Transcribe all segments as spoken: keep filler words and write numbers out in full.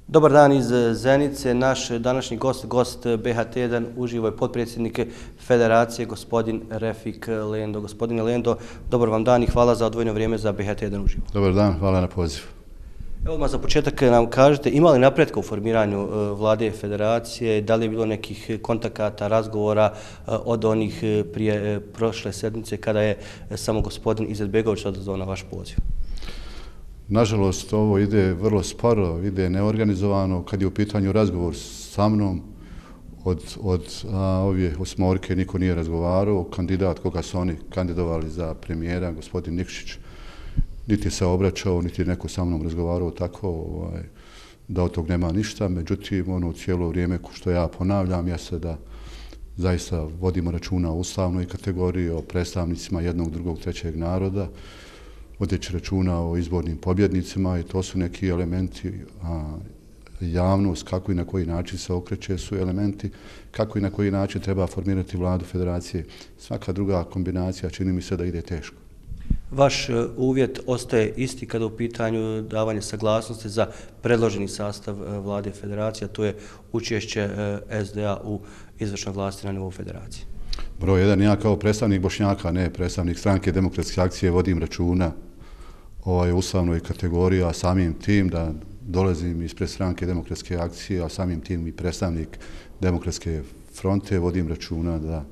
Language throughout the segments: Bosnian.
Dobar dan iz Zenice. Naš današnji gost, gost B H T jedan, uživo je potpredsjednik Federacije, gospodin Refik Lendo. Gospodine Lendo, dobar vam dan i hvala za odvojeno vrijeme za B H T jedan uživo. Dobar dan, hvala na pozivu. Evo odmah za početak nam kažete, ima li napretka u formiranju vlade Federacije, da li je bilo nekih kontakata, razgovora od onih prije prošle sedmice kada je samo gospodin Izetbegović odazvao na vaš poziv? Nažalost, ovo ide vrlo sporo, ide neorganizovano. Kad je u pitanju razgovor sa mnom, od, od a, ove osmorke niko nije razgovarao. Kandidat koga su oni kandidovali za premijera, gospodin Nikšić, niti se obraćao, niti je neko sa mnom razgovarao tako ovaj, da od tog nema ništa. Međutim, ono cijelo vrijeme što ja ponavljam jeste da zaista vodimo računa o ustavnoj kategoriji, o predstavnicima jednog, drugog, trećeg naroda, vodeći računa o izbornim pobjednicima i to su neki elementi, a, javnost, kako i na koji način se okreće su elementi, kako i na koji način treba formirati vladu Federacije. Svaka druga kombinacija čini mi se da ide teško. Vaš uvjet ostaje isti kada u pitanju davanje saglasnosti za predloženi sastav vlade Federacije, a to je učešće S D A u izvršnoj vlasti na nivou Federacije. Broj jedan, ja kao predstavnik Bošnjaka, ne predstavnik Stranke demokratske akcije, vodim računa o ustavnoj kategoriji, a samim tim da dolazim ispred Stranke demokratske akcije, a samim tim i predstavnik Demokratske fronte, vodim računa da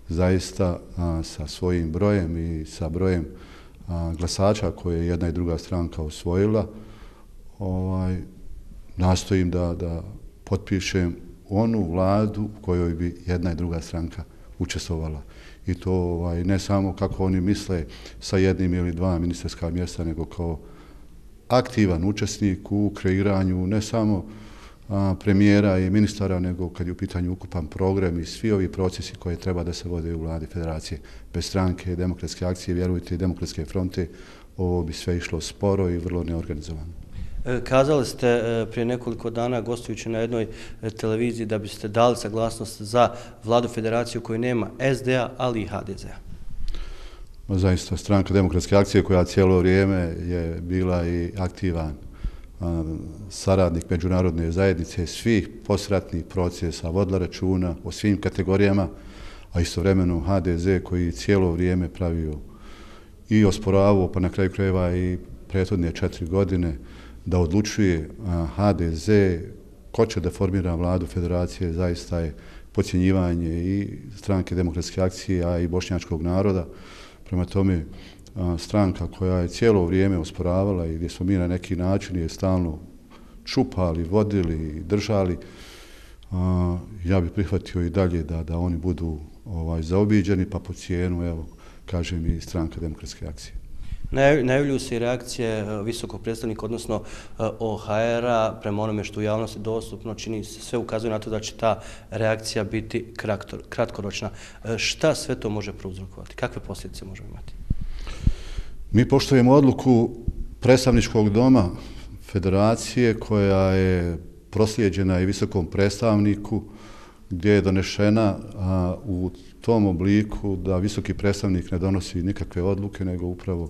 zaista a, sa svojim brojem i sa brojem a, glasača koje je jedna i druga stranka osvojila, ovaj, nastojim da, da potpišem onu vladu u kojoj bi jedna i druga stranka učestvovala. I to ovaj, ne samo kako oni misle sa jednim ili dva ministarska mjesta, nego kao aktivan učesnik u kreiranju ne samo a, premijera i ministara, nego kad je u pitanju ukupan program i svi ovi procesi koje treba da se vode u vladi Federacije. Bez Stranke demokratske akcije, vjerujte, i Demokratske fronte, ovo bi sve išlo sporo i vrlo neorganizovano. Kazali ste prije nekoliko dana gostujući na jednoj televiziji da biste dali saglasnost za vladu Federacije u kojoj nema S D A, ali i H D Z A. Zaista, Stranka demokratske akcije koja cijelo vrijeme je bila i aktivan saradnik međunarodne zajednice, svih posratnih procesa, vodila računa o svim kategorijama, a istovremeno H D Z koji cijelo vrijeme pravio i osporavao, pa na kraju krajeva i prethodne četiri godine, da odlučuje H D Z ko će da formira vladu Federacije, zaista je podcjenjivanje i Stranke demokratske akcije, a i bošnjačkog naroda. Prema tome, stranka koja je cijelo vrijeme osporavala i gdje smo mi na neki način je stalno čupali, vodili, držali, ja bih prihvatio i dalje da, da oni budu ovaj, zaobiđeni, pa po cijenu, evo, kažem i Stranka demokratske akcije. Najavljuju se i reakcije visokog predstavnika, odnosno O H R-a, prema onome što u javnosti dostupno, čini se, sve ukazuje na to da će ta reakcija biti kratkoročna. Šta sve to može prouzrokovati? Kakve posljedice možemo imati? Mi poštujemo odluku predstavničkog doma Federacije koja je proslijeđena i visokom predstavniku gdje je donešena a, u tom obliku da visoki predstavnik ne donosi nikakve odluke, nego upravo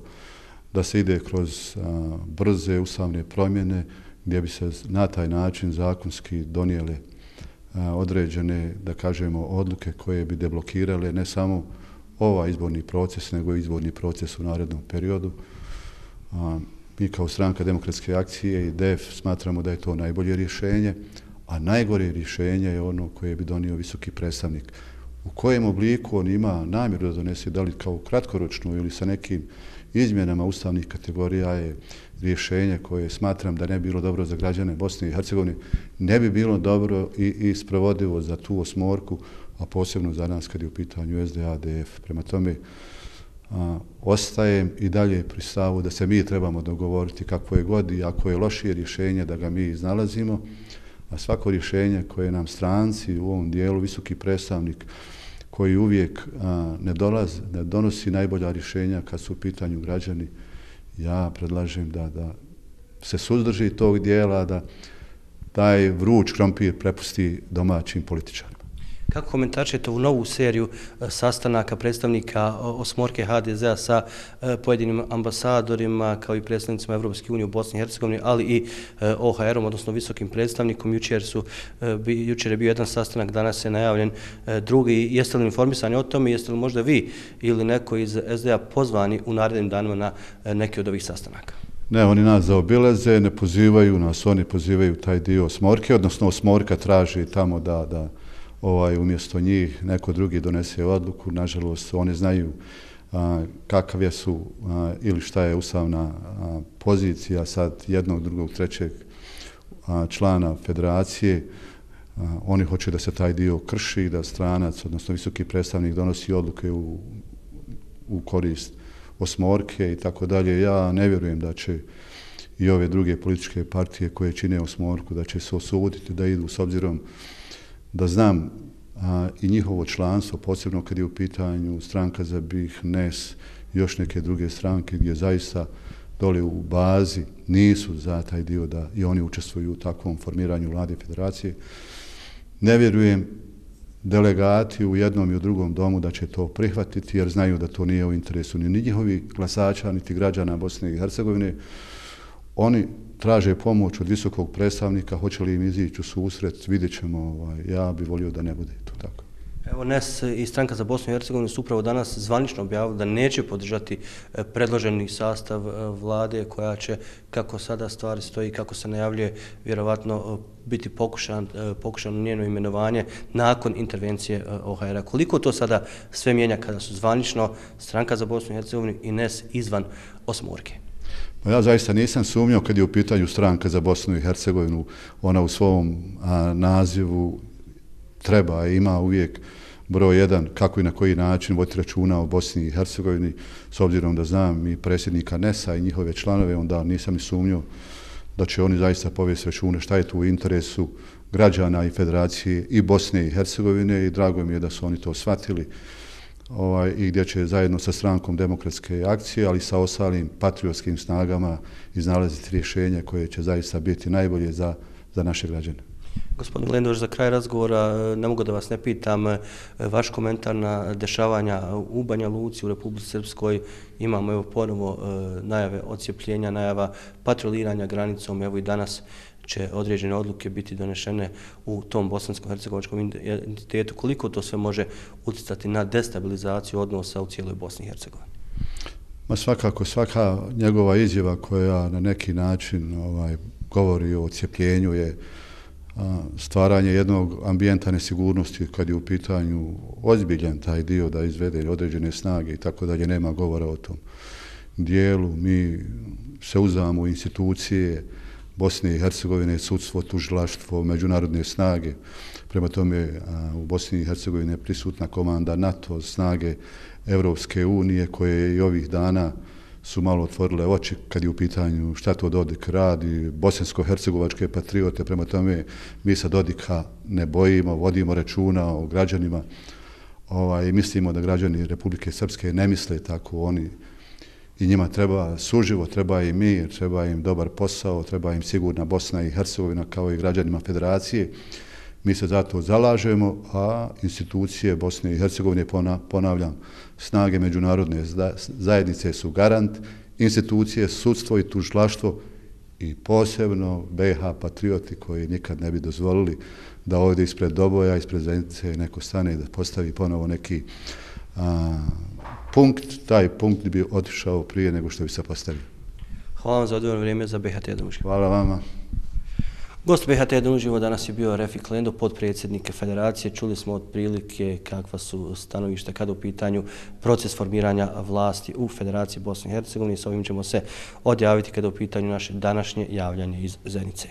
da se ide kroz a, brze ustavne promjene gdje bi se na taj način zakonski donijele a, određene, da kažemo, odluke koje bi deblokirale ne samo ovaj izborni proces, nego i izborni proces u narednom periodu. A, mi kao Stranka demokratske akcije i D E F smatramo da je to najbolje rješenje, a najgore rješenje je ono koje bi donio visoki predstavnik. U kojem obliku on ima namjeru da donese, da li kao kratkoročno ili sa nekim izmjenama ustavnih kategorija, je rješenje koje smatram da ne bi bilo dobro za građane Bosne i Hercegovine, ne bi bilo dobro i, i sprovodivo za tu osmorku, a posebno za nas kad je u pitanju S D A, D F. Prema tome, a, ostajem i dalje pri stavu da se mi trebamo dogovoriti kako je god i ako je lošije rješenje da ga mi iznalazimo, a svako rješenje koje nam stranci u ovom dijelu, visoki predstavnik koji uvijek a, ne, dolaz, ne donosi najbolja rješenja kad su u pitanju građani, ja predlažem da, da se suzdrži tog dijela, da taj vruć krompir prepusti domaćim političarima. Kako komentarčete ovu novu seriju sastanaka predstavnika osmorke ha de zea sa pojedinim ambasadorima kao i predstavnicima Evropske unije u Bosni i Hercegovini, ali i o ha erom, odnosno visokim predstavnikom? Jučer, su, jučer je bio jedan sastanak, danas je najavljen drugi. Jeste li informisani o tome? Jeste li možda vi ili neko iz es de a pozvani u narednim danima na neki od ovih sastanaka? Ne, oni nas zaobilaze, ne pozivaju nas, oni pozivaju taj dio osmorke, odnosno osmorka traži tamo da, da ovaj, umjesto njih neko drugi donese odluku. Nažalost, oni znaju a, kakav je su a, ili šta je ustavna a, pozicija sad jednog, drugog, trećeg a, člana federacije. A, oni hoće da se taj dio krši, da stranac, odnosno visoki predstavnik donosi odluke u, u korist osmorke i tako dalje. Ja ne vjerujem da će i ove druge političke partije koje čine osmorku da će se osuditi da idu, s obzirom da znam a, i njihovo članstvo, posebno kad je u pitanju stranka za B i ha, N E S, još neke druge stranke gdje zaista dole u bazi nisu za taj dio da i oni učestvuju u takvom formiranju vlade federacije. Ne vjerujem delegati u jednom i u drugom domu da će to prihvatiti, jer znaju da to nije u interesu ni njihovih glasača, niti građana Bosne i Hercegovine. Oni traže pomoć od visokog predstavnika, hoće li im izići u susret, vidjet ćemo. Ovaj, ja bih volio da ne bude to tako. Evo, N E S i stranka za Bosnu i Hercegovinu su upravo danas zvanično objavili da neće podržati predloženi sastav vlade koja će, kako sada stvari stoji, kako se najavljuje, vjerovatno biti pokušan, pokušano njeno imenovanje nakon intervencije o ha era. Koliko to sada sve mijenja kada su zvanično stranka za Bosnu i Hercegovinu i N E S izvan osmorke? Pa ja zaista nisam sumnjao kad je u pitanju stranka za Bosnu i Hercegovinu. Ona u svom a, nazivu treba i ima uvijek broj jedan kako i na koji način voditi računa o Bosni i Hercegovini. S obzirom da znam i predsjednika N E S a i njihove članove, onda nisam ni sumnjao da će oni zaista povesti račune šta je tu u interesu građana i federacije i Bosne i Hercegovine, i drago mi je da su oni to shvatili ovaj, i gdje će zajedno sa strankom Demokratske akcije, ali sa ostalim patriotskim snagama iznalaziti rješenja koje će zaista biti najbolje za, za naše građane. Gospodin Lendoš, za kraj razgovora ne mogu da vas ne pitam vaš komentar na dešavanja u Banja Luci, u Republici Srpskoj. Imamo evo ponovo najave odcijepljenja, najava patroliranja granicom. Evo i danas će određene odluke biti donešene u tom bosansko-hercegovačkom entitetu. Koliko to sve može utjecati na destabilizaciju odnosa u cijeloj Bosni i Hercegovini? Ma svakako, svaka njegova izjava koja na neki način ovaj, govori o odcijepljenju je stvaranje jednog ambijenta nesigurnosti kad je u pitanju ozbiljan taj dio da izvede određene snage i tako dalje. Nema govora o tom dijelu. Mi se uzdamo u institucije Bosne i Hercegovine, sudstvo, tužilaštvo, međunarodne snage. Prema tome u Bosni i Hercegovini je prisutna komanda NATO, snage Evropske unije koje i ovih dana su malo otvorile oči kad je u pitanju šta to Dodik radi, bosansko-hercegovačke patriote. Prema tome mi sa Dodika ne bojimo, vodimo računa o građanima. Ovaj, mislimo da građani Republike Srpske ne misle tako. Oni i njima treba suživot, treba im mir, treba im dobar posao, treba im sigurna Bosna i Hercegovina kao i građanima federacije. Mi se zato zalažemo, a institucije Bosne i Hercegovine, ponavljam, snage međunarodne zajednice su garant, institucije, sudstvo i tužilaštvo i posebno B i ha patrioti koji nikad ne bi dozvolili da ovdje ispred Doboja, ispred Zenice neko stane i da postavi ponovo neki a, punkt. Taj punkt bi otišao prije nego što bi se postavio. Hvala vam za odvojeno vrijeme za B i ha tjedan uživo. Hvala vama. Gost B i ha tjedan uživo danas je bio Refik Lendo, potpredsjednik federacije. Čuli smo otprilike kakva su stanovišta kada u pitanju proces formiranja vlasti u Federaciji Bosne i Hercegovine. S ovim ćemo se odjaviti kada u pitanju naše današnje javljanje iz Zenice.